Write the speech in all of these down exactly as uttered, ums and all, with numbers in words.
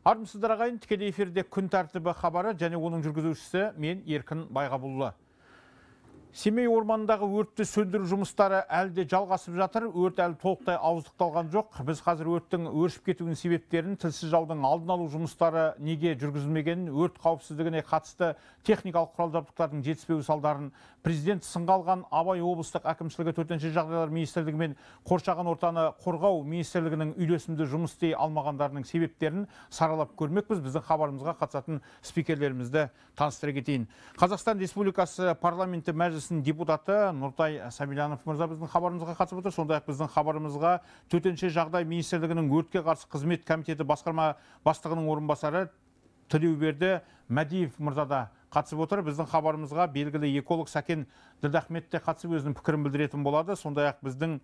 Армысыздар ағайын, тікелей эфирде күн тәртібі хабары және оның жүргізушісі мен Еркін Байғабұлы. Семей орманындағы өртті сөндіру жұмыстары әлде жалғасып жатыр. Өрт әлі толықтай ауыздықталған жоқ. Біз қазір өрттің өршіп кетуінің себептерін, тілсіз жаудың алдын алу жұмыстары неге жүргізілмегенін, өрт қауіпсіздігіне қатысты техникалық құрал-жабдықтардың жетіспеуі салдарын, президент сынға алған Абай облыстық әкімшілігі төтенше жағдайлар министрлігі мен қоршаған ортаны қорғау министрлігінің үйлесімді жұмыс істей алмағандарының себептерін саралап көрмекпіз. Біздің хабарымызға қатысатын спикерлерімізді таныстыра кетейін. Қазақстан Республикасы парламенті мәжілісінің депутаты Нұртай Сабильянов мырза біздің хабарымызға қатысып отыр. Сондай-ақ біздің хабарымызға төтенше жағдай министрлігінің өртке қарсы қызмет комитеті басқарма бастығының орынбасары Тілеуберді Мәдиев мырза да қатысып отыр. Біздің хабарымызға белгілі эколог Сәкен Ділдахмет те қатысып өзінің пікірін білдіретін болады. Сондай-ақ біздің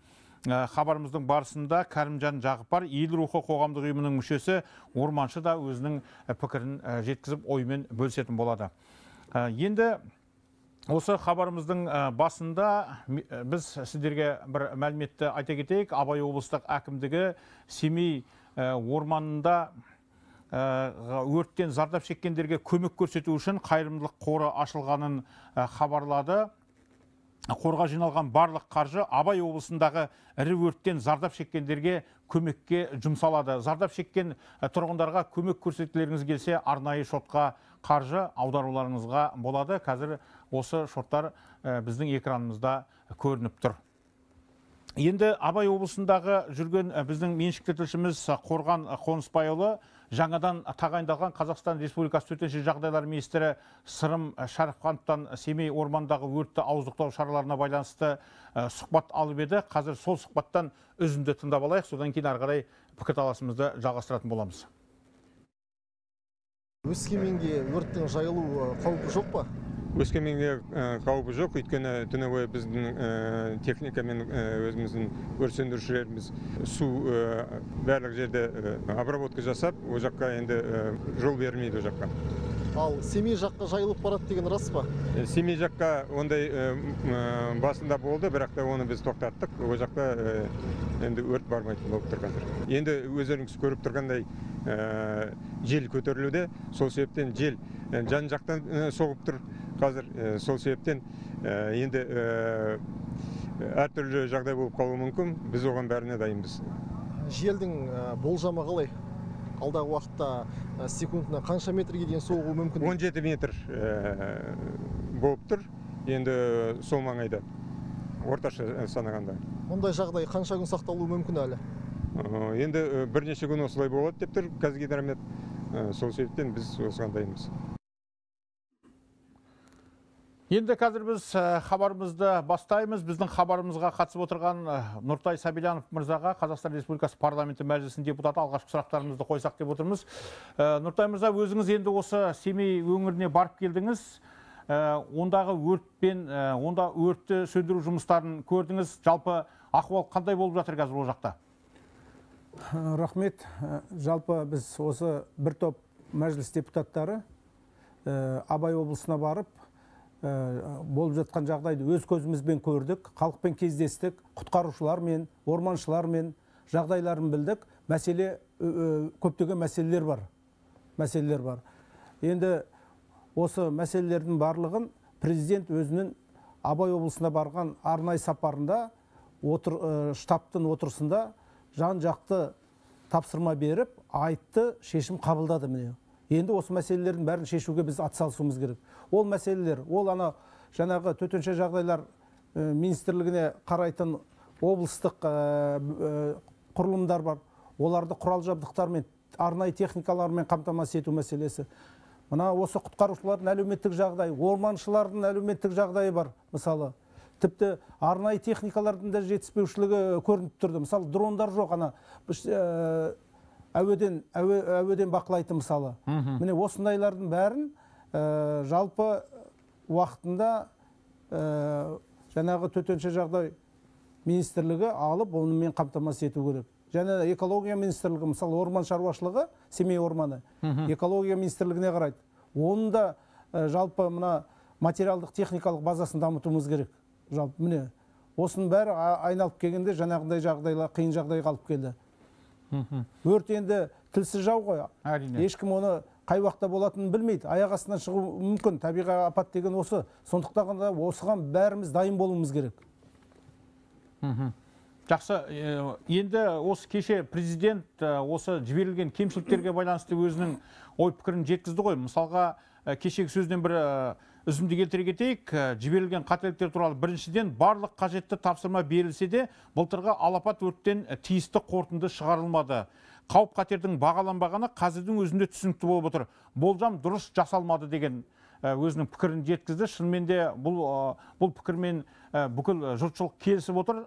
хабарымыздың барысында Кәрімжан Жағыпар, ел рухы қоғамдық ұйымының мүшесі орманшы да өзінің пікірін жеткізіп оймен бөлісетін болады. Енді осы хабарымыздың басында біз сіздерге бір мәліметті айта кетейік. Абай облыстық әкімдігі Семей орманында өрттен зардап шеккендерге көмек көрсету үшін қайырымдылық қоры ашылғанын хабарлады. Қорға жиналған барлық қаржы Абай облысындағы ірі өрттен зардап шеккендерге көмекке жұмсалады. Зардап шеккен тұрғындарға көмек көрсетулеріңіз келсе, арнайы шотқа қаржы аударуларыңызға болады. Қазір осы шоттар біздің экранымызда көрініп тұр. Енді Абай облысындағы жүрген біздің меншікті тілшіміз Қорған Қонысбайұлы жаңадан тағайындалған Қазақстан Республикасы төтенше жағдайлар министрі Сырым Шәріпхановтан Семей ормандағы өртті ауыздықтау шараларына байланысты сұхбат алып еді. Қазір сол сұхбаттан үзінді тыңдап алайық, содан кейін ары қарай пікірталасымызды жалғастыратын боламыз. Өскеменге өрттің жайылу қаупі жоқ па? Өскеменге қаупі жоқ, өйткені түні бойы біздің техникамен өзіміздің өрт сөндірушілеріміз су барлық жерде обработка жасап, о жаққа енді жол бермейді о жаққа. Ал Семей жаққа жайылып барады деген рас па? Семей жаққа ондай басында болды, бірақ та оны біз тоқтаттық. О жақта енді өрт бармайтын болып тұрғандар. Енді өздеріңіз көріп тұрғандай жел көтерілуде, сол себептен жел жан жақтан соғып тұр. Қазір сол себептен енді әртүрлі жағдай болып қалуы мүмкін. Біз оған бәріне дайынбыз. Желдің болжамы қалай? Алдағы уақытта секундына қанша метрге дейін соғуы мүмкін? он жеті метр болып тұр. Енді сол маңайда орташа санағанда. Ондай жағдай қанша күн сақталуы мүмкін әлі? Енді бірнеше күн осылай болады деп тұр Қазгидромет. Сол себептен біз осыған дайынбыз. Енді қазір біз хабарымызды бастаймыз. Біздің хабарымызға қатысып отырған Нұртай Сабильянов мырзаға Қазақстан Республикасы парламенті мәжілісінің депутаты алғашқы сұрақтарымызды қойсақ деп отырмыз. Нұртай мырза, өзіңіз енді осы Семей өңіріне барып келдіңіз. Ондағы өртпен, онда өртті сөндіру жұмыстарын көрдіңіз. Жалпы ахуал қандай болып жатыр қазір ол жақта? Рахмет. Жалпы біз осы бір топ мәжіліс депутаттары Абай облысына барып, болып жатқан жағдайды өз көзімізбен көрдік, халықпен кездестік, құтқарушылармен, орманшылармен жағдайларын білдік. Мәселе, көптеген мәселелер бар. Мәселелер бар. Енді осы мәселелердің барлығын президент өзінің Абай облысына барған арнайы сапарында штабтың отырысында жан жақты тапсырма беріп, айтты, шешім қабылдады міне. Енді осы мәселелердің бәрін шешуге біз атсалысуымыз керек. Ол мәселелер, ол ана жаңағы төтенше жағдайлар министрлігіне қарайтын облыстық құрылымдар бар. Оларды құрал жабдықтармен, арнайы техникалармен қамтамасыз ету мәселесі. Мына осы құтқарушылардың әлеуметтік жағдайы, орманшылардың әлеуметтік жағдайы бар, мысалы. Тіпті арнайы техникалардың да жетіспеушілігі көрініп тұрды. Мысалы, дрондар жоқ, ана әуеден әуеден бақылайтын мысалы. Міне осындайлардың бәрін жалпы уақытында жаңағы төтенше жағдай министрлігі алып, онымен қамтамасыз ету керек. Және экология министрлігі, мысалы орман шаруашылығы, Семей орманы, экология министрлігіне қарайды. Оның да жалпы мына материалдық техникалық базасын дамытуымыз керек. Жалпы міне осының бәрі айналып келгенде жаңағындай жағдайға, қиын жағдайға алып келді. Өрт енді тілсіз жау ғой. Әрине. Ешкім оны қай уақытта болатынын білмейді. Аяқ астынан шығу мүмкін. Табиғи апат деген осы. Сондықтан да осыған бәріміз дайын болуымыз керек. Жақсы, енді осы кеше президент осы жіберілген кемшіліктерге байланысты өзінің ой пікірін жеткізді ғой. Мысалға, кешегі сөзден бір үзінді келтіре кетейік. Жіберілген қателіктер туралы біріншіден барлық қажетті тапсырма берілсе де, былтырғы алапат өрттен тиісті қорытынды шығарылмады. Қауіп қатердің бағаланбағаны қазірдің өзінде түсінікті болып отыр. Болжам дұрыс жасалмады деген өзінің пікірін жеткізді. Шынымен де бұл бұл пікірмен бүкіл жұртшылық келісіп отыр.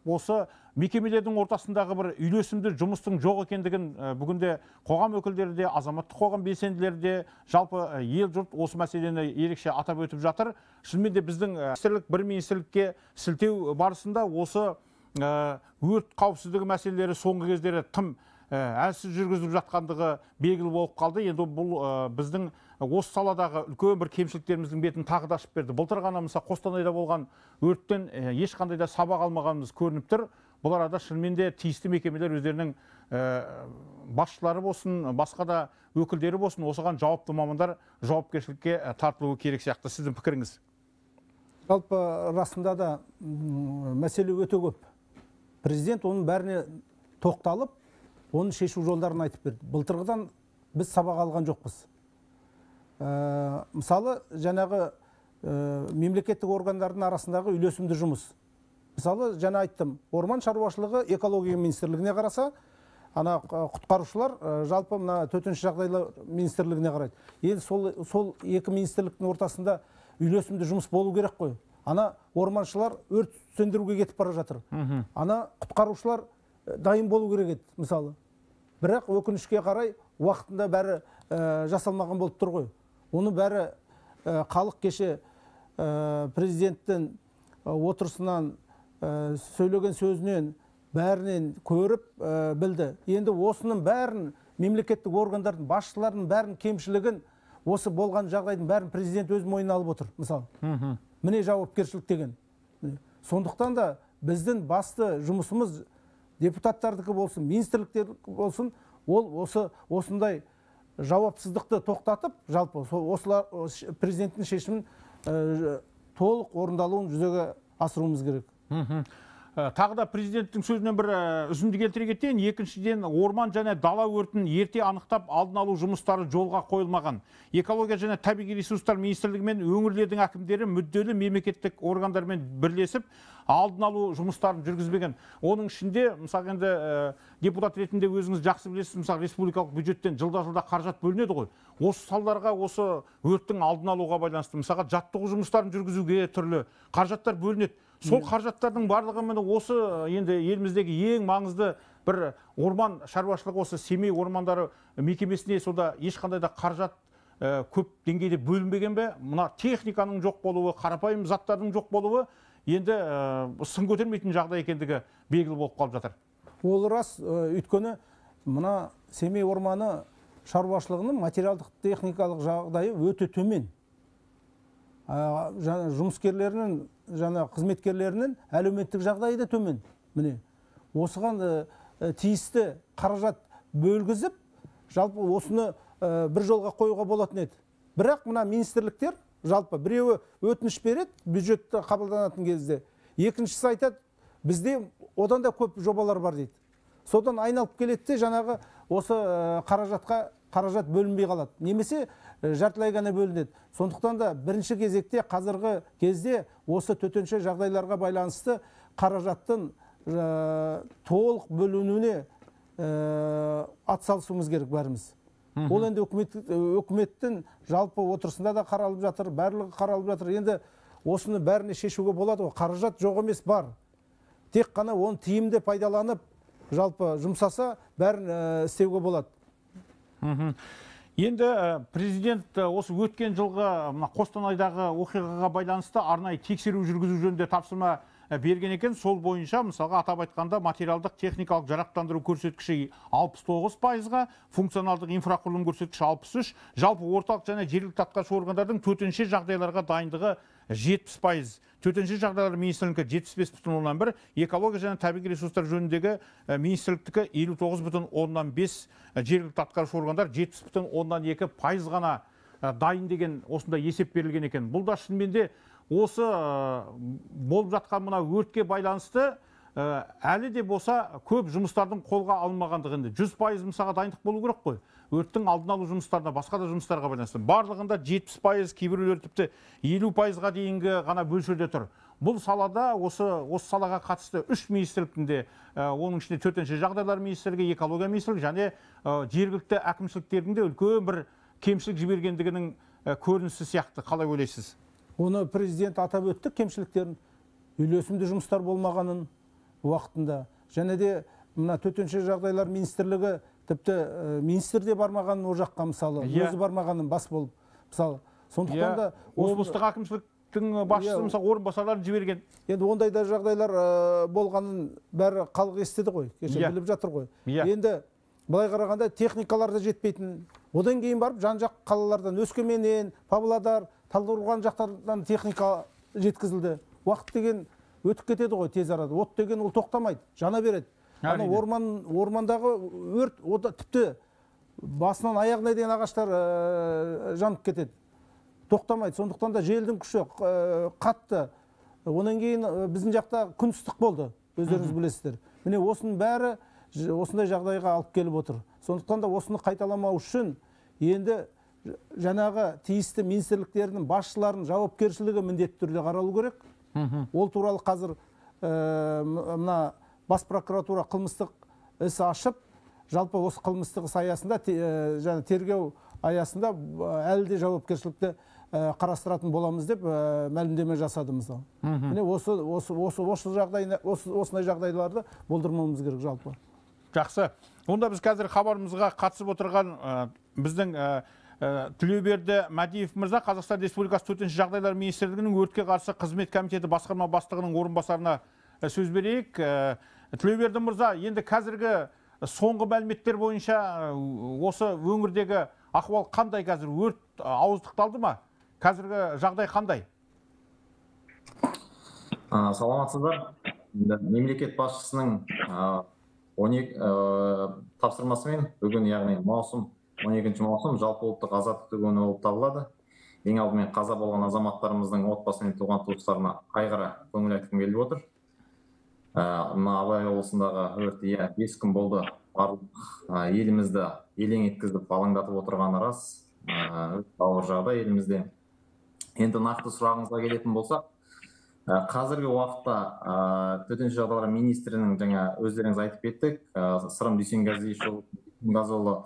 Осы мекемелердің ортасындағы бір үйлесімді жұмыстың жоқ екендігін бүгінде қоғам өкілдері де, азаматтық қоғам белсенділері де, жалпы ел жұрт осы мәселені ерекше атап өтіп жатыр. Шынымен де біздің министрлік бір министрлікке сілтеу барысында осы өрт қауіпсіздігі мәселелері соңғы кездері тым әлсіз жүргізіліп жатқандығы белгілі болып қалды. Енді бұл біздің осы саладағы үлкен бір кемшіліктеріміздің бетін тағы да ашып берді. Былтыр ғана мысалы Қостанайда болған өрттен ешқандай да сабақ алмағанымыз көрініп тұр. Бұл арада шынымен де тиісті мекемелер өздерінің басшылары болсын, басқа да өкілдері болсын, осыған жауапты мамандар жауапкершілікке тартылуы керек сияқты. Сіздің пікіріңіз? Жалпы расында да мәселе өте көп. Президент оның бәріне тоқталып, оның шешу жолдарын айтып берді. Былтырғыдан біз сабақ алған жоқпыз. Мысалы, жаңағы мемлекеттік органдардың арасындағы үйлесімді жұмыс. Мысалы, жаңа айттым, орман шаруашылығы экология министрлігіне қараса, ана құтқарушылар жалпы мына төтенше жағдайлар министрлігіне қарайды. Енді сол сол екі министрліктің ортасында үйлесімді жұмыс болу керек қой. Ана орманшылар өрт сөндіруге кетіп бара жатыр. Ана құтқарушылар дайын болу керек еді, мысалы. Бірақ өкінішке қарай уақытында бәрі жасалмаған болып тұр ғой. Оны бәрі халық кеше президенттің отырысынан, сөйлеген сөзінен бәрінен көріп білді. Енді осының бәрін мемлекеттік органдардың басшыларының бәрін кемшілігін, осы болған жағдайдың бәрін президент өз мойнына алып отыр, мысалы. Міне жауапкершілік деген. Сондықтан да біздің басты жұмысымыз депутаттардікі болсын, министрліктердікі болсын, ол осы осындай жауапсыздықты тоқтатып, жалпы осылар президенттің шешімін толық орындалуын жүзеге асыруымыз керек. Тағы да президенттің сөзінен бір үзінді келтіре кетейін. Екіншіден, орман және дала өртін ерте анықтап алдын алу жұмыстары жолға қойылмаған. Экология және табиғи ресурстар министрлігі мен өңірлердің әкімдері мүдделі мемлекеттік органдармен бірлесіп алдын алу жұмыстарын жүргізбеген. Оның ішінде, мысалы енді депутат ретінде өзіңіз жақсы білесіз, мысалы республикалық бюджеттен жылда-жылда қаражат бөлінеді ғой. Осы салдарға, осы өрттің алдын алуға байланысты, мысалы жаттығу жұмыстарын жүргізуге түрлі қаражаттар бөлінеді. Сол қаражаттардың барлығы осы енді еліміздегі ең маңызды бір орман шаруашылығы, осы Семей ормандары мекемесіне сода ешқандай да қаражат көп деңгейде бөлінбеген бе? Мына техниканың жоқ болуы, қарапайым заттардың жоқ болуы енді сын көтермейтін жағдай екендігі белгілі болып қалып жатыр. Ол рас, өйткені мына Семей орманы шаруашылығының материалдық техникалық жағдайы өте төмен. Жұмыскерлерінің, жаңа қызметкерлерінің әлеуметтік жағдайы да төмен. Міне, осыған тиісті қаражат бөлгізіп, жалпы осыны бір жолға қоюға болатын еді. Бірақ мына министрліктер жалпы біреуі өтініш береді, бюджетті қабылданатын кезде. Екіншісі айтады, бізде одан да көп жобалар бар дейді. Содан айналып келеді де, жаңағы осы қаражатқа қаражат бөлінбей қалады. Немесе жартылай ғана бөлінеді. Сондықтан да бірінші кезекте қазіргі кезде осы төтенше жағдайларға байланысты қаражаттың толық бөлінуіне атсалысуымыз керек бәріміз. Ол енді өкіметтің жалпы отырысында да қаралып жатыр, барлығы қаралып жатыр. Енді осыны бәріне шешуге болады. Қаражат жоқ емес, бар. Тек қана оны тиімді пайдаланып, жалпы жұмсаса бәрін істеуге болады. Енді президент осы өткен жылғы Қостанайдағы оқиғаға байланысты арнайы тексеру жүргізу жөнінде тапсырма берген екен. Сол бойынша, мысалға атап айтқанда, материалдық техникалық жарақтандыру көрсеткіші алпыс тоғыз пайызға, функционалдық инфрақұрылым көрсеткіші алпыс үш, жалпы орталық және жергілікті атқарушы органдардың төтенше жағдайларға дайындығы жетпіс пайыз, төтенше жағдайлар министрлігі жетпіс бес бүтін оннан бір, экология және табиғи ресурстар жөніндегі министрліктікі елу тоғыз бүтін оннан бес, жергілікті атқарушы органдар жетпіс бүтін оннан екі пайыз ғана дайын деген осында есеп берілген екен. Бұл да шынымен де осы болып жатқан мына өртке байланысты әлі де болса көп жұмыстардың қолға алынмағандығында жүз пайыз мысалға дайындық болу керек қой. Өрттің алдын алу жұмыстарына, басқа да жұмыстарға байланысты. Барлығында жетпіс пайыз, кейбіреулер тіпті елу пайызға дейінгі ғана мөлшерде тұр. Бұл салада осы осы салаға қатысты үш министрліктің, оның ішінде төтенше жағдайлар министрлігі, экология министрлігі және жергілікті әкімшіліктердің де үлкен бір кемшілік жібергендігінің көрінісі сияқты. Қалай ойлайсыз? Оны президент атап өтті, кемшіліктерін, үйлесімді жұмыстар болмағанын уақытында. Және де мына төтенше жағдайлар министрлігі тіпті министр де бармағанын о жаққа, мысалы, өзі бармағанын бас болып, мысалы. Сондықтан да облыстық әкімшіліктің басшысы мысалы орынбасарларын жіберген. Енді ондай да жағдайлар болғанын бәрі халық естіді ғой, кеше біліп жатыр ғой. Енді былай қарағанда техникалар да жетпейтін. Одан кейін барып жан-жақ қалалардан, Өскеменнен, Павлодар, Талдықорған жақтардан техника жеткізілді. Уақыт деген өтіп кетеді ғой тез арада. От деген ол тоқтамайды, жана береді. Ана орман ормандағы өрт, о да тіпті басынан аяғына дейін ағаштар жанып кетеді. Тоқтамайды. Сондықтан да желдің күші қатты. Онан кейін біздің жақта күн ыстық болды, өздеріңіз білесіздер. Міне осының бәрі осындай жағдайға алып келіп отыр. Сондықтан да осыны қайталамау үшін енді жаңағы тиісті министрліктерінің басшыларының жауапкершілігі міндетті түрде қаралу керек. Ол туралы қазір мына бас прокуратура қылмыстық іс ашып, жалпы осы қылмыстық іс аясында, және тергеу аясында әлі де жауапкершілікті қарастыратын боламыз деп мәлімдеме жасады мысалы. Міне осы осы осы осы жағдай осындай жағдайларды болдырмауымыз керек жалпы. Жақсы. Онда біз қазір хабарымызға қатысып отырған біздің Тілеуберді Мәдиев мырза, Қазақстан Республикасы төтенше жағдайлар министрлігінің өртке қарсы қызмет комитеті басқарма бастығының орынбасарына сөз берейік. Тілеуберді мырза, енді қазіргі соңғы мәліметтер бойынша осы өңірдегі ахуал қандай қазір? Өрт ауыздықталды ма? Қазіргі жағдай қандай? Саламатсыздар. Мемлекет басшысының он екі тапсырмасымен бүгін, яғни маусым он екінші маусым жалпы ұлттық азаттық күні болып табылады. Ең алдымен қаза болған азаматтарымыздың отбасы мен туған туыстарына қайғыра көңіл айтқым келіп отыр. Мына Абай облысындағы өрт бес күн болды. Барлық елімізді елең еткізіп, алаңдатып отырғаны рас. Ауыр жағдай елімізде. Енді нақты сұрағыңызға келетін болсақ, қазіргі уақытта төтенше жағдайлар министрінің жаңа өздеріңіз айтып кеттік, Сырым Дүйсенғазыұлы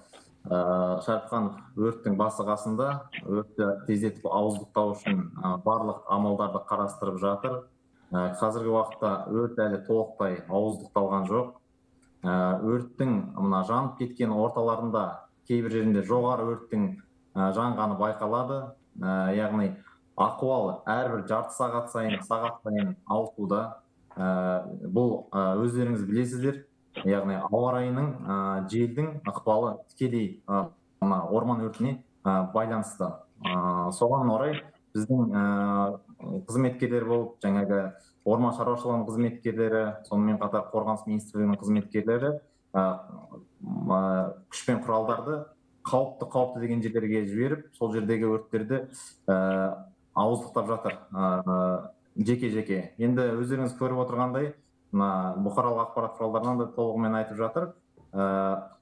Шәріпханов өрттің басы қасында өртті тездетіп ауыздықтау үшін барлық амалдарды қарастырып жатыр. Қазіргі уақытта өрт әлі толықтай ауыздықталған жоқ. Өрттің мына жанып кеткен орталарында кейбір жерінде жоғары өрттің жанғаны байқалады. Яғни ахуал әрбір жарты сағат сайын, сағат сайын ауытуда. Бұл өздеріңіз білесіздер. Яғни ауа райының, желдің ықпалы тікелей орман өртіне байланысты. Соған орай біздің қызметкерлер болып, жаңағы орман шаруашылығының қызметкерлері, сонымен қатар қорғаныс министрлігінің қызметкерлері күш пен құралдарды қауіпті қауіпті деген жерлерге жіберіп, сол жердегі өрттерді ауыздықтап жатыр жеке-жеке. Енді өздеріңіз көріп отырғандай, бұқаралық ақпарат құралдарынан да толығымен айтып жатыр.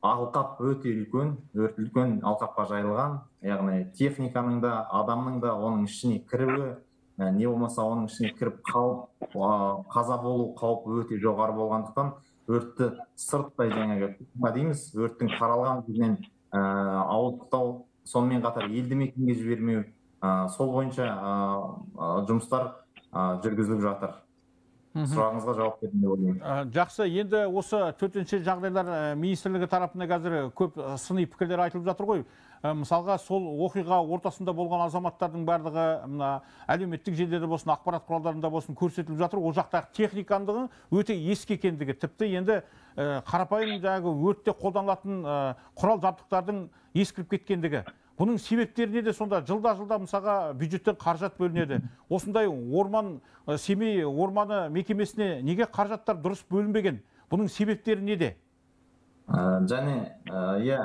Алқап өте үлкен, өрт үлкен алқапқа жайылған, яғни техниканың да, адамның да оның ішіне кіруі, не болмаса оның ішіне кіріп қалып, қаза болу қаупі өте жоғары болғандықтан, өртті сырттай жаңағы дейміз, өрттің таралған жерінен ауыздықтау, сонымен қатар елді мекенге жібермеу, сол бойынша жұмыстар жүргізіліп жатыр. Сұрағыңызға жауап бердім деп ойлаймын. Жақсы, енді осы төтенше жағдайлар министрлігі тарапында қазір көп сыни пікірлер айтылып жатыр ғой. Мысалға, сол оқиға ортасында болған азаматтардың барлығы мына әлеуметтік желілерде болсын, ақпарат құралдарында болсын көрсетіліп жатыр. Ол жақтағы техникандығы өте ескі екендігі, тіпті енді қарапайым жаңағы өртте қолданылатын құрал жабдықтардың ескіріп кеткендігі. Бұның себептері неде сонда? Жылда-жылда мысалға бюджеттен қаражат бөлінеді. Осындай орман, Семей орманы мекемесіне неге қаражаттар дұрыс бөлінбеген? Бұның себептері неде? Және, иә,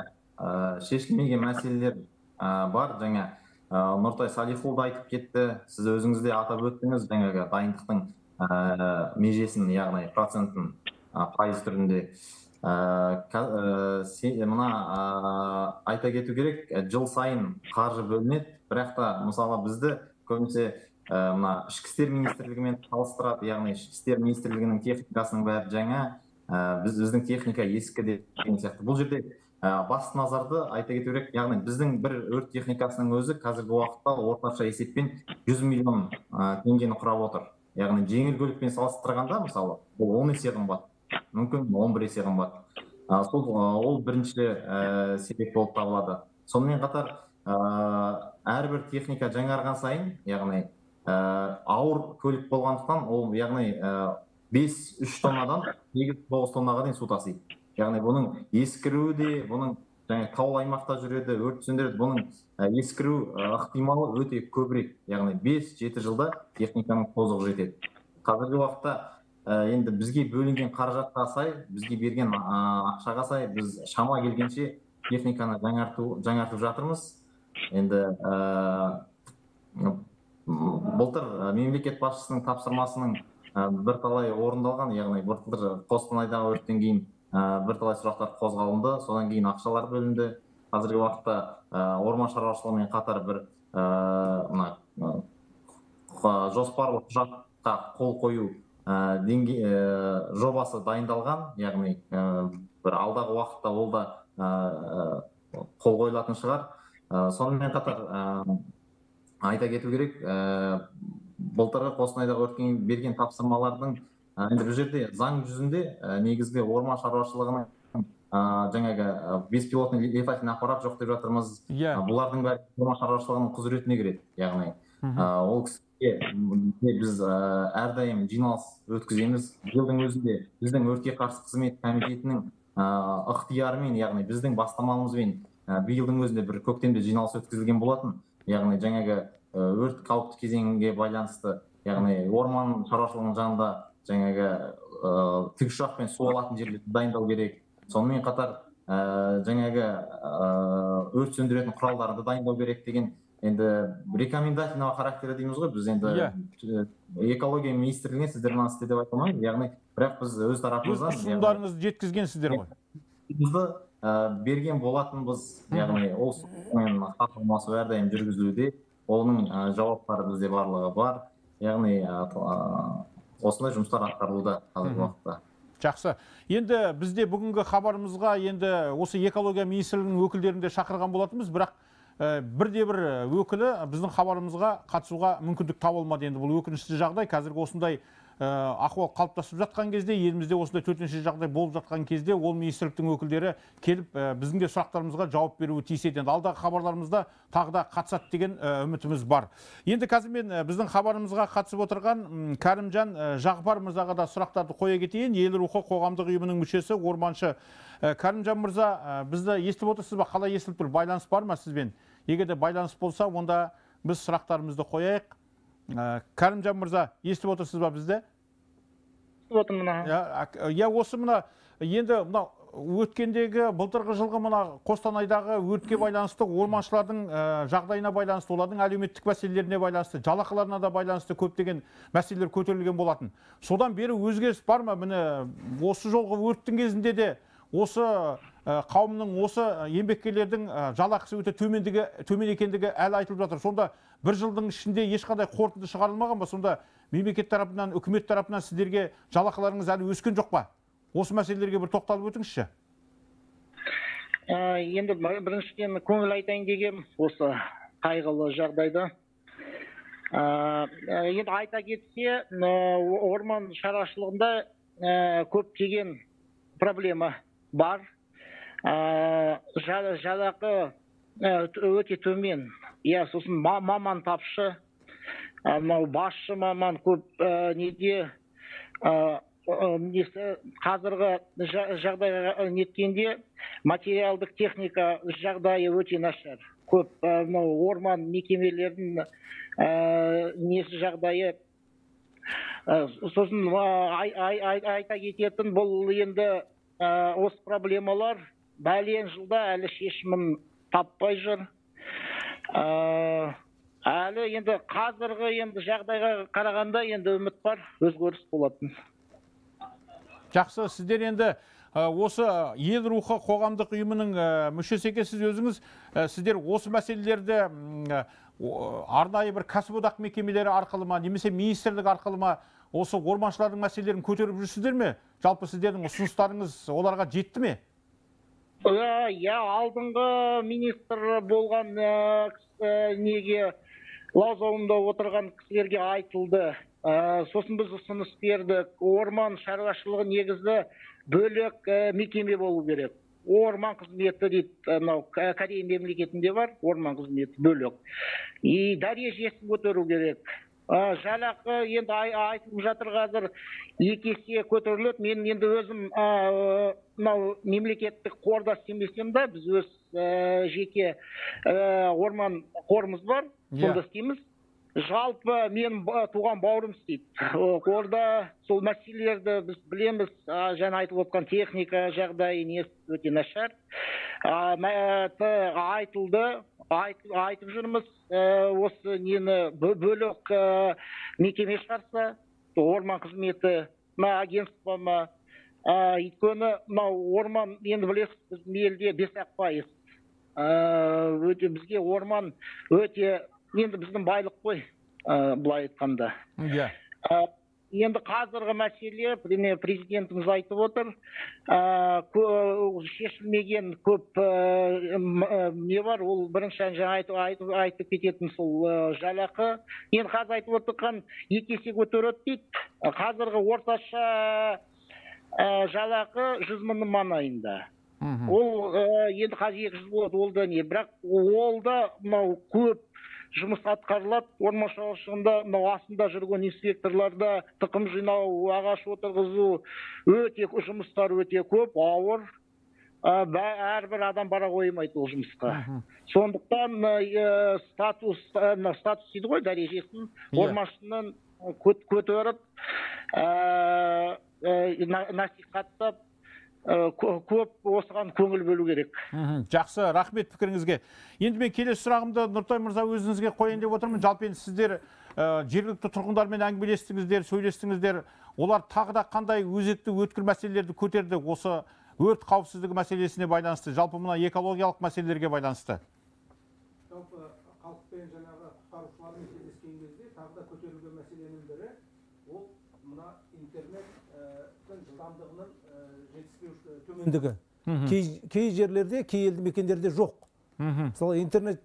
шешілмеген мәселелер бар. Жаңа Нұртай Салихұлы айтып кетті. Сіз өзіңіз де атап өттіңіз, жаңағы дайындықтың межесін, яғни процентін пайыз түрінде. Мына айта кету керек, жыл сайын қаржы бөлінеді, бірақ та мысалы бізді көбінесе мына ішкі істер министрлігімен салыстырады, яғни ішкі істер министрлігінің техникасының бәрі жаңа, біз біздің техника ескі деген сияқты. Бұл жерде басты назарды айта кету керек, яғни біздің бір өрт техникасының өзі қазіргі уақытта орташа есеппен жүз миллион теңгені құрап отыр. Яғни жеңіл көлікпен салыстырғанда, мысалы, бұл он есе қымбат, мүмкін он бір есе қымбат. Ол бірінші себеп болып табылады. Сонымен қатар әрбір техника жаңарған сайын, яғни ауыр көлік болғандықтан, ол яғни бес үш тоннадан сегіз тоғыз тоннаға дейін су тасиды. Яғни бұның ескіруі де, бұның таулы аймақта жүреді, өрт сөндіреді, бұның ескіру ықтималы өте көбірек. Яғни бес жеті жылда техниканың тозығы жетеді. Қазіргі уақытта енді бізге бөлінген қаражатқа сай, бізге берген ақшаға сай, біз шама келгенше техниканы жаңартып жатырмыз. Енді былтыр мемлекет басшысының тапсырмасының бірталай орындалған, яғни былтыр Қостанайдағы өрттен кейін бірталай сұрақтар қозғалынды, содан кейін ақшалар бөлінді. Қазіргі уақытта орман шаруашылығымен қатар бір жоспарлы құжатқа қол қою жобасы дайындалған, яғни бір алдағы уақытта ол да қол қойылатын шығар. Сонымен қатар айта кету керек, былтырғы Қостанайдағы өртке берген тапсырмалардың енді бұл жерде заң жүзінде негізгі орман шаруашылығының жаңағы беспилотный летательный аппарат жоқ деп жатырмыз. Бұлардың бәрі орман шаруашылығының құзыретіне кіреді. Яғни ол кісіге біз әрдайым жиналыс өткіземіз. Жылдың өзінде біздің өртке қарсы қызмет комитетінің ықтиярымен, яғни біздің бастамамызбен биылдың өзінде бір көктемде жиналыс өткізілген болатын. Яғни жаңағы өрт қауіпті кезеңге байланысты, яғни орман шаруашылығының жанында жаңағы тікұшақпен су алатын жерлерді дайындау керек. Сонымен қатар жаңағы өрт сөндіретін құралдарды дайындау керек деген енді рекомендательного характері дейміз ғой. Біз енді экология министрлігіне сіздер мынаны істе деп айта алмаймыз. Яғни, бірақ біз өз тарапымыздан ұсынымдарыңызды жеткізгенсіздер ғой. Бізді берген болатынбыз. Яғни ол сумен хат-алмасу әрдайым жүргізілуде. Оның жауаптары бізде барлығы бар. Яғни осындай жұмыстар атқарылуда қазіргі уақытта. Жақсы. Енді бізде бүгінгі хабарымызға енді осы экология министрлігінің өкілдерін де шақырған болатынбыз, бірақ бірде-бір өкілі біздің хабарымызға қатысуға мүмкіндік табылмады. Енді бұл өкінішті жағдай. Қазіргі осындай ахуал қалыптасып жатқан кезде, елімізде осындай төтенше жағдай болып жатқан кезде, ол министрліктің өкілдері келіп біздің де сұрақтарымызға жауап беруі тиіс еді. Алдағы хабарларымызда тағы да қатысады деген үмітіміз бар. Енді қазір мен біздің хабарымызға қатысып отырған Кәрімжан Жағыпар мырзаға да сұрақтарды қоя кетейін. Ел рухы қоғамдық ұйымының мүшесі, орманшы. Кәрімжан мырза, бізді естіп отырсыз ба? Қалай естіліп тұр? Байланыс бар ма сізбен? Егер де байланыс болса, онда біз сұрақтарымызды қояйық. Кәрімжан мырза, естіп отырсыз ба бізді? Я осы мына енді мына өткендегі былтырғы жылғы мына Қостанайдағы өртке байланысты, орманшылардың жағдайына байланысты, олардың әлеуметтік мәселелеріне байланысты, жалақыларына да байланысты көптеген мәселелер көтерілген болатын. Содан бері өзгеріс бар ма? Міне осы жолғы өрттің кезінде де осы қауымның, осы еңбеккерлердің жалақысы өте төмен екендігі әлі айтылып жатыр. Сонда бір жылдың ішінде ешқандай қорытынды шығарылмаған ба? Сонда мемлекет тарапынан, үкімет тарапынан сіздерге жалақыларыңыз әлі өскен жоқ па? Осы мәселелерге бір тоқталып өтіңізші. Енді біріншіден көңіл айтайын деген осы қайғылы жағдайда. Енді айта кетсе, орман шаруашылығында көптеген проблема бар. Жалақы өте төмен. Иә, сосын маман тапшы, басшы маман көп неде қазіргі жағдайға неткенде материалдық техника жағдайы өте нашар. көп мынау орман мекемелерінің несі жағдайы. Сосын айта кететін бұл енді осы проблемалар бәлен жылда әлі шешімін таппай жүр. Әлі енді қазіргі енді жағдайға қарағанда енді үміт бар, өзгеріс болатын. Жақсы, сіздер енді осы ел рухы қоғамдық ұйымының мүшесі екенсіз өзіңіз, сіздер осы мәселелерді арнайы бір кәсіподақ мекемелері арқылы ма, немесе министрлік арқылы ма осы орманшылардың мәселелерін көтеріп жүрсіздер ме? Жалпы сіздердің ұсыныстарыңыз оларға жетті ме? Иә, алдыңғы министр болған неге лауазымда отырған кісілерге айтылды. Сосын біз ұсыныс бердік. Орман шаруашылығы негізі бөлек мекеме болу керек. Орман қызметі дейді, Корея мемлекетінде бар, орман қызметі бөлек. И дәрежесін көтеру керек. Жалақы енді айтылып жатыр қазір екі есе көтеріледі. Мен енді өзім мемлекеттік қорда істемесем де, біз өз жеке орман қорымыз бар, сонда істейміз. Жалпы мен туған бауырым істейді. Қорда сол мәселелерді біз білеміз, жаңа айтып отқан техника жағдайы несі өте нашар. Айтылды, айтып жүрміз, осы нені бөлек мекеме шығарса, орман қызметі, агентство ма, өйткені орман, енді білесіз, біздің елде бес ақ пайыз. Бізге орман өте, енді біздің байлық қой, былай айтқанда. Енді қазіргі мәселе, президентіміз айтып отыр, шешілмеген көп не бар, ол бірінші жаңа айтып кететін сол жалақы. Енді қазір айтып отырған екі есе көтереді дейді. Қазіргі орташа жалақы жүз мың маңайында. Ол енді қазір екі жүз болады, ол да не, бірақ ол да көп жұмыс атқарылады. Орман шаруашылығында мынау астында жүрген инспекторларда тұқым жинау, ағаш отырғызу, өте жұмыстар өте көп, ауыр. Әрбір адам бара қоймайды ол жұмысқа. Сондықтан статус, статус дейді ғой, дәрежесін орманшының көтеріп, насихаттап, көп осыған көңіл бөлу керек. Жақсы, рахмет пікіріңізге. Енді мен келесі сұрағымды Нұртай мырза өзіңізге қояйын деп отырмын. Жалпы енді сіздер жергілікті тұрғындармен әңгімелестіңіздер, сөйлестіңіздер. Олар тағы да қандай өзекті өткір мәселелерді көтерді осы өрт қауіпсіздігі мәселесіне байланысты, жалпы мына экологиялық мәселелерге байланысты? Жалпы халықпен жаңағы құтқарушылармен кездескен кезде тағы да көтерілген мәселенің бірі ол мына интернеттің жылдамдығының жетіспеушілігі, төмендігі. Кей жерлерде, кей елді мекендерде жоқ. Мысалы интернет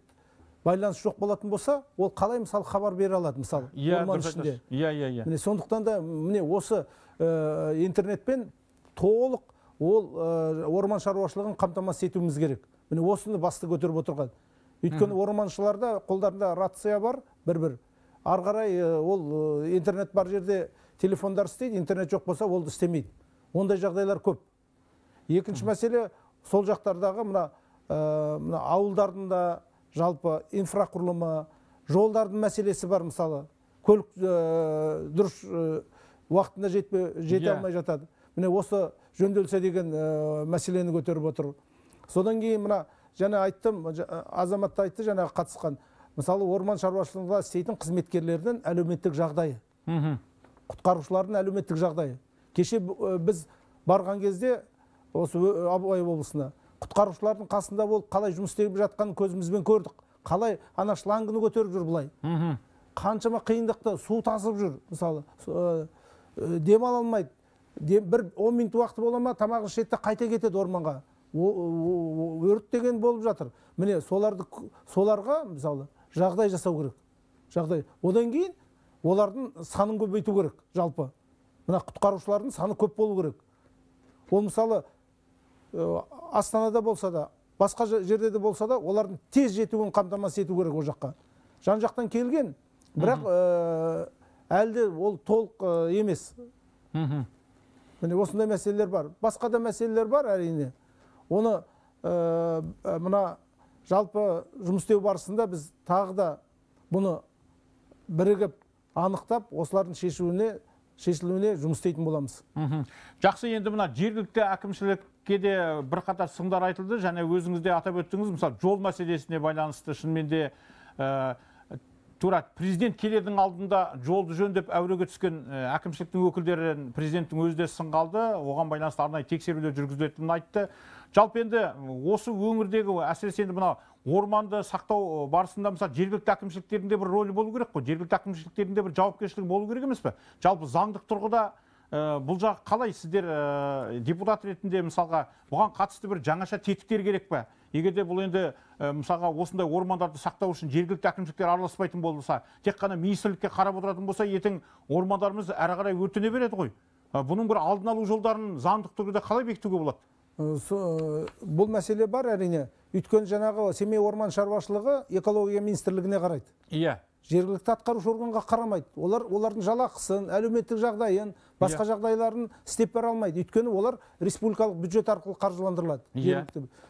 байланыс жоқ болатын болса, ол қалай мысалы хабар бере алады, мысалы орман ішінде. Иә, иә, иә. Міне сондықтан да міне осы интернетпен толық ол орман шаруашылығын қамтамасыз етуіміз керек. Міне осыны басты көтеріп отырған. Өйткені орманшыларда қолдарында рация бар, бір-бір. Ары қарай ол интернет бар жерде телефондар істейді, интернет жоқ болса ол істемейді. Ондай жағдайлар көп. Екінші мәселе, сол жақтардағы мына ауылдардың да жалпы инфрақұрылымы, жолдардың мәселесі бар, мысалы. Көлік дұрыс уақытында жете алмай жатады. Міне осы жөнделсе деген мәселені көтеріп отыр. Содан кейін мына жаңа айттым, азаматта айтты жаңа қатысқан. Мысалы орман шаруашылығында істейтін қызметкерлердің әлеуметтік жағдайы. Құтқарушылардың әлеуметтік жағдайы. Кеше біз барған кезде осы Абай облысына құтқарушылардың қасында болып қалай жұмыс істеп жатқанын көзімізбен көрдік. Қалай ана шлангыны көтеріп жүр бұлай. Қаншама қиындықты, су тасып жүр, мысалы. Демала алмайды. Бір он минут уақыты бола ма, тамағын ішеді де қайта кетеді орманға. Өрт деген болып жатыр. Міне соларға мысалы жағдай жасау керек. Жағдай. Одан кейін олардың санын көбейту керек, жалпы. Мына құтқарушылардың саны көп болу керек. Ол мысалы Астанада болса да, басқа жерде де болса да, олардың тез жетуін қамтамасыз ету керек о жаққа. Жан жақтан келген, бірақ әлде ол толық емес. Міне осындай мәселелер бар. Басқа да мәселелер бар, әрине. Оны мына жалпы жұмыс істеу барысында біз тағы да бұны бірігіп анықтап осылардың шешуіне шешілуіне жұмыс істейтін боламыз. Жақсы, енді мына жергілікті әкімшілікке де бірқатар сындар айтылды, және өзіңіз де атап өттіңіз, мысалы жол мәселесіне байланысты шынымен де тура президент келердің алдында жолды жөндеп әуреге түскен әкімшіліктің өкілдерін президенттің өзі де сынға алды, оған байланысты арнайы тексерулер жүргізілетінін айтты. Жалпы енді осы өңірдегі әсіресе енді мына орманды сақтау барысында мысалы жергілікті әкімшіліктердің де бір рөлі болу керек қой, жергілікті әкімшіліктердің де бір жауапкершілігі болу керек емес пе? Жалпы заңдық тұрғыда бұл жақ қалай, сіздер депутат ретінде мысалға бұған қатысты бір жаңаша тетіктер керек пе? Егер де бұл енді мысалға осындай ормандарды сақтау үшін жергілікті әкімшіліктер араласпайтын болса, тек қана министрлікке қарап отыратын болса, ертең ормандарымыз әрі қарай өртене береді ғой. Бұның бір алдын алу жолдарын заңдық тұрғыда қалай бекітуге болады? Бұл мәселе бар әрине. Өйткені жаңағы Семей орман шаруашылығы экология министрлігіне қарайды. Иә. Жергілікті атқарушы органға қарамайды. Олар олардың жалақысын, әлеуметтік жағдайын, басқа жағдайларын істеп бере алмайды. Өйткені олар республикалық бюджет арқылы қаржыландырылады.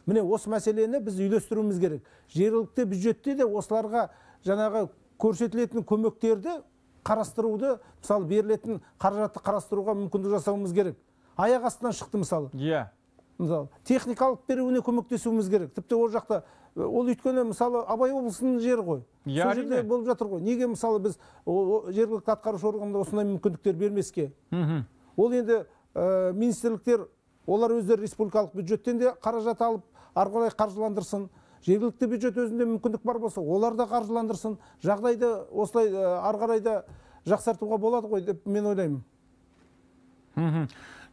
Міне осы мәселені біз үйлестіруіміз керек. Жергілікті бюджетте де осыларға жаңағы көрсетілетін көмектерді қарастыруды, мысалы берілетін қаражатты қарастыруға мүмкіндік жасауымыз керек. Аяқ астынан шықты мысалы. Иә. Мысалы, техникалық беруіне көмектесуіміз керек. Тіпті ол жақта, ол өйткені мысалы Абай облысының жері ғой. Сол жерде болып жатыр ғой. Неге мысалы біз жергілікті атқарушы органда осындай мүмкіндіктер бермеске? Ол енді министрліктер, олар өздері республикалық бюджеттен де қаражат алып, ары қарай қаржыландырсын. Жергілікті бюджет өзінде мүмкіндік бар болса, олар да қаржыландырсын. Жағдайды осылай ары қарай да жақсартуға болады ғой деп мен ойлаймын.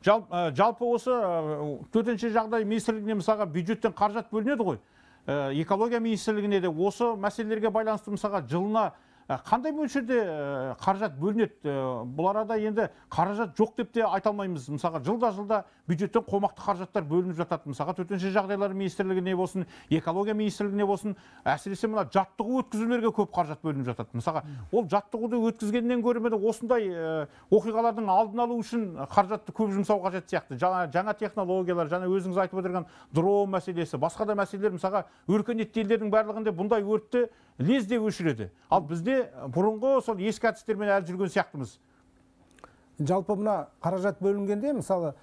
Жалпы осы төтенше жағдай министрлігіне мысалға бюджеттен қаражат бөлінеді ғой. Экология министрлігіне де осы мәселелерге байланысты мысалға жылына қандай мөлшерде қаражат бөлінеді? Бұл арада енді қаражат жоқ деп те айта алмаймыз. Мысалға жылда-жылда бюджеттен қомақты қаражаттар бөлініп жатады. Мысалға төтенше жағдайлар министрлігіне болсын, экология министрлігіне болсын, әсіресе мына жаттығу өткізулерге көп қаражат бөлініп жатады. Мысалға ол жаттығуды өткізгеннен гөрі осындай оқиғалардың алдын алу үшін қаражатты көп жұмсау қажет сияқты. Жаңа технологиялар, жаңа өзіңіз айтып отырған дрон мәселесі, басқа да мәселелер, мысалға өркениетті елдердің барлығында бұндай өртті лезде өшіреді. Ал бізде бұрынғы сол ескі әдістермен әлі жүрген сияқтымыз. Жалпы мына қаражат бөлінгенде, мысалы,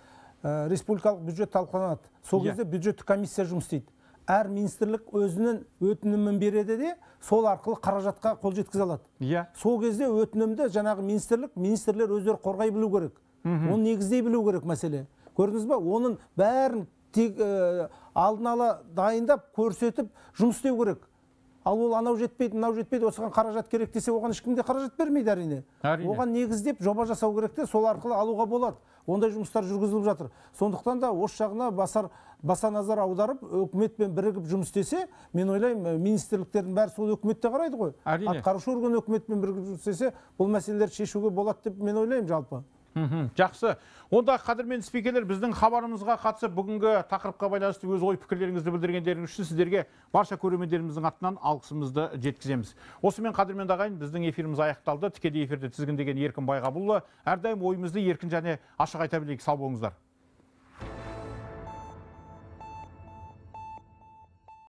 республикалық бюджет талқыланады. Сол кезде бюджеттік комиссия жұмыс істейді. Әр министрлік өзінің өтінімін береді де, сол арқылы қаражатқа қол жеткізе алады. Сол кезде өтінімді жаңағы министрлік, министрлер өздері қорғай білу керек. Оны негіздей білу керек мәселе. Көрдіңіз ба? Оның бәрін тек алдын ала дайындап, көрсетіп, жұмыс істеу керек. Ал ол анау жетпейді, мынау жетпейді, осыған қаражат керек десе, оған ешкімде қаражат бермейді әрине. Оған негіздеп жоба жасау керек те, сол арқылы алуға болады. Ондай жұмыстар жүргізіліп жатыр. Сондықтан да осы жағына басар баса назар аударып, өкіметпен бірігіп жұмыс істесе, мен ойлаймын, министрліктердің бәрі сол өкіметте қарайды ғой. Атқарушы орган өкіметпен бірігіп жұмыс істесе, бұл мәселелерді шешуге болады деп мен ойлаймын жалпы. Жақсы. Онда қадірмен спикерлер, біздің хабарымызға қатысып бүгінгі тақырыпқа байланысты өз ой пікірлеріңізді білдіргендеріңіз үшін сіздерге барша көрермендеріміздің атынан алғысымызды жеткіземіз. Осымен қадірмен ағайын, біздің эфиріміз аяқталды. Тікелей эфирде тізгіндеген Еркін Байғабұлы. Әрдайым ойымызды еркін және ашық айта білейік. Сау болыңыздар.